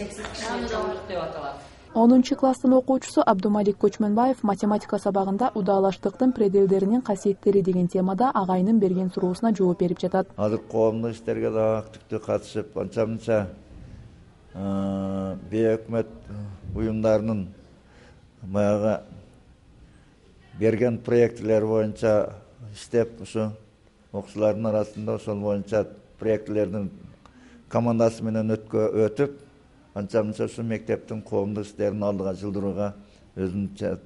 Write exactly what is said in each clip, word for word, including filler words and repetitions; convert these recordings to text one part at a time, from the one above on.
чексиз кичине чоңдук деп аталат. онунчу класстын окуучусу Абдумалик Көчмөнбаев математика сабагында удаалаштыктын пределдеринин касиеттери деген темада агайынын берген суроосуна жооп берип жатат. Азыр коомдук иштерге да активдүү катышып, анча-мынча бейөкмөт уюмдарынын баягы берген проектилер боюнча иштеп, ушу окуучулардын арасында ошол боюнча проектилердин командасы менен өтүп, анча-мынча ушу мектептин коомдук иштерин алдыга жылдырууга өзүнүн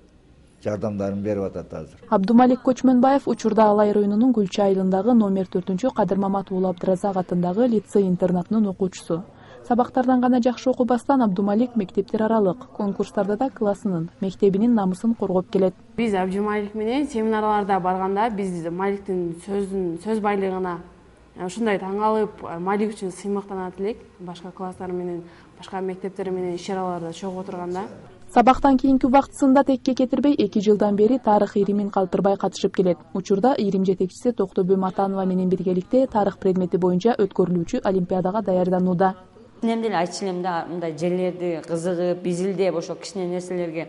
жардамдарын берип атат азыр. Абдумалик Көчмөнбаев учурда Алай районунун Гүлчү айылындагы номер төртүнчү Кадыр Маматуулу Абдыразак атындагы лицей-интернатынын окуучусу. Сабактардан гана жакшы окубастан Абдумалик мектептер аралык конкурстарда да классынын, мектебинин намысын коргоп келет. Биз Абдумалик менен семинарларда барганда биз Маликтин сөзүн сөз байлыгына ушундай таң калып, Малик үчүн сыймыктанат элек. Башка класстар менен, башка мектептер менен иш-чараларда чогуу отурганда. Сабактан кийинки убактысында текке кетирбей эки жылдан бери тарых иримин калтырбай катышып келет. Учурда ирим жетекчиси Токтогүл Матанова менен биргеликте тарых предмети боюнча өткөрүлүүчү олимпиадага даярданууда. Мен деле айтчу элем да, мындай жерлерди кызыгып, изилдеп, ошо кичине нерселерге.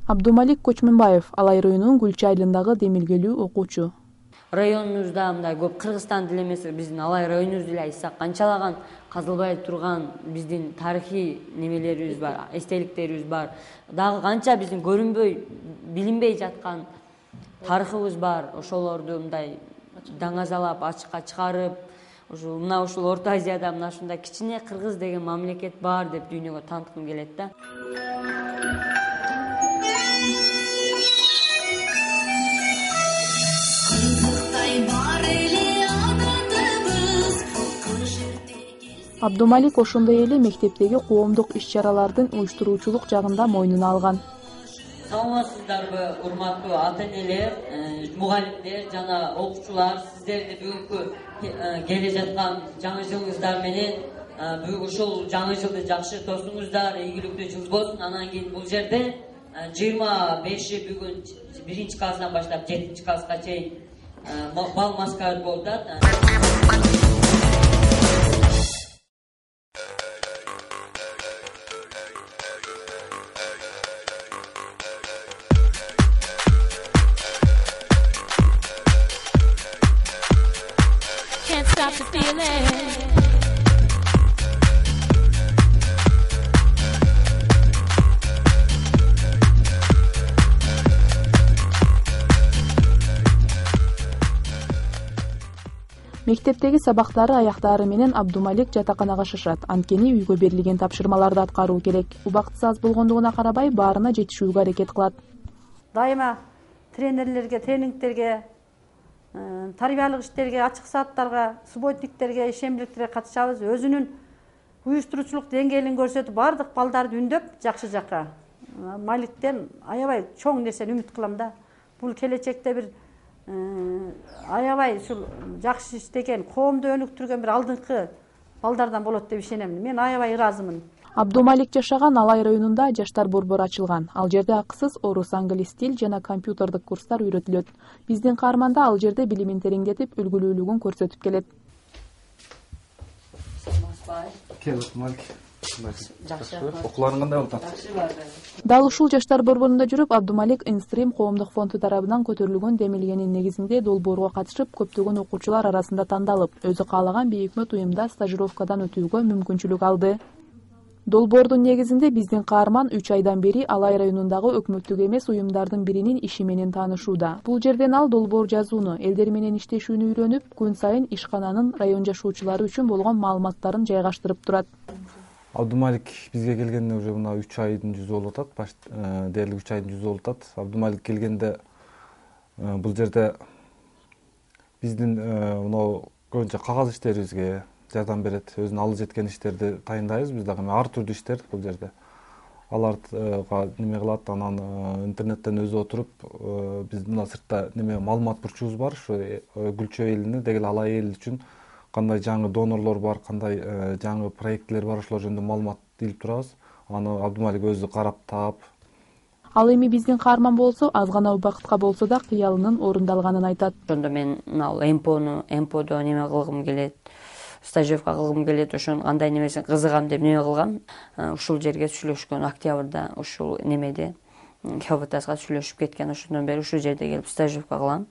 Абдумалик Көчмөнбаев Алай районунун Гүлчү айылындагы демилгелүү окуучу. Районубузда мындай көп Кыргызстан деле эмес, биздин Алай районубуз деле айтсак, канчалаган казылбай турган биздин тарыхый немелерибиз бар, эстеликтерибиз бар. Дагы канча биздин көрүнбөй, билинбей жаткан тарыхыбыз бар. Ошолорду мындай даңазалап, ачыкка чыгарып, ушул мына ушул Орто Азияда мына ушундай кичине Кыргыз деген мамлекет бар деп дүйнөгө тааныткым келет да. Абдумалик ошондой эле мектептеги коомдук иш-чаралардын уюштуруучулук жагында мойнуна алган. Саламатсыздарбы, урматтуу ата-энелер, мугалимдер жана окуучулар, сиздерди бүгүнкү келе жаткан жаңы жылыңыздар менен бүгүн ушул жаңы жылды жакшы тосуңуздар, ийгиликтүү жыл болсун. Анан кийин бул жерде жыйырма беши бүгүн биринчи класстан баштап жетинчи класска чейин бал маскарат болуп атат. Мектептеги сабактары аяктаары менен Абдумалик жатаканага шашат. Анткени үйгө берилген тапшырмаларды аткаруу керек. Убактысы аз болгондугуна карабай, баарына жетишүүгө аракет кылат. Дайыма тренерлерге, тренингтерге, тарбиялык иштерге, ачык сааттарга, субботниктерге, ишембиликтерге катышабыз. Өзүнүн уюштуруучулук деңгээлин көрсөтүп, бардык балдарды үндөп жакшы жакка. Маликтен аябай чоң нерсени үмүт кылам да. Бул келечекте бир аябай ушул жакшы иштеген, коомду өнүктүргөн бир алдыңкы балдардан болот деп ишенем. Мен аябай ыраазымын. Абдумалик жашаган Алай районунда жаштар борбору ачылган. Ал жерде акысыз орус, англис тил жана компьютердик курстар үйрөтүлөт. Биздин каарманда ал жерде билимин тереңдетип, үлгүлүүлүгүн көрсөтүп келет. Окууларың кандай болуп атат? Дал ушул жаштар борборунда жүрүп, Абдумалик Инстрим коомдук фонду тарабынан көтөрүлгөн демилгенин негизинде долбоорго катышып, көптөгөн окуучулар арасында тандалып, өзү каалаган бейөкмөт уюмда стажировкадан өтүүгө мүмкүнчүлүк алды. Долбоордун негизинде биздин каарман үч айдан бери Алай районундагы өкмөттүк эмес уюмдардын биринин иши менен таанышууда. Бул жерден ал долбоор жазууну, элдер менен иштешүүнү үйрөнүп, күн сайын ишкананын район жашоочулары үчүн болгон маалыматтарын жайгаштырып турат. Абдумалик бизге келгенде уже мына үч айдын жүзү болуп атат. Баш дээрлик үч айдын жүзү болуп атат. Абдумалик келгенде бул жерде биздин мына көбүнчө кагаз иштерибизге жардам берет. Өзүнүн алы жеткен иштерди тайындайбыз. Биз дагы ар түрдүү иштер бул жерде. Аларга неме кылат, анан интернеттен өзү отуруп, биз мына сыртта неме маалымат бурчубуз бар. Ушу Гүлчү элине деги Алай эл үчүн кандай жаңы донорлор бар, кандай жаңы проекттер бар, ошолор жөнүндө маалымат илип турабыз. Аны Абдумалик өзү карап таап. Ал эми биздин каарман болсо, аз гана убакытка болсо да кыялынын орундалганын айтат. Ошондо мен мына эмпону, эмподо неме кылгым келет. стажировка кылгым келет, ошонун кандай немесин кызыгам деп неме кылгам. Ушул жерге сүйлөшкөн октябрда, ушул немеде Хёбатаска сүйлөшүп кеткен. Ошондон бери ушул жерде келип стажировка кылам.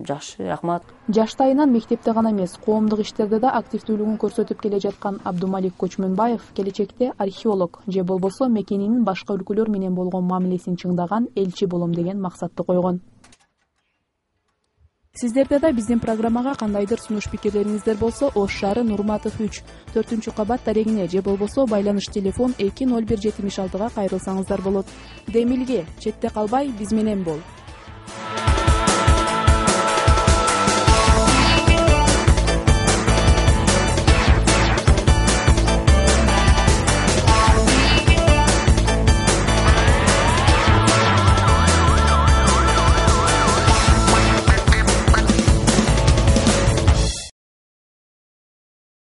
Жакшы, рахмат. Жаштайынан мектепте гана эмес, коомдук иштерде да активдүүлүгүн көрсөтүп келе жаткан Абдумалик Көчмөнбаев келечекте археолог же болбосо мекенинин башка өлкөлөр менен болгон мамилесин чыңдаган элчи болом деген максатты койгон. Сиздерде да биздин программага кандайдыр сунуш пикирлериңиздер болсо, Ош шаары Нурматов үч, төртүнчү кабат дарегине же болбосо байланыш телефон эки ноль бир жетимиш алтыга кайрылсаңыздар болот. Демилге, четте калбай биз менен бол.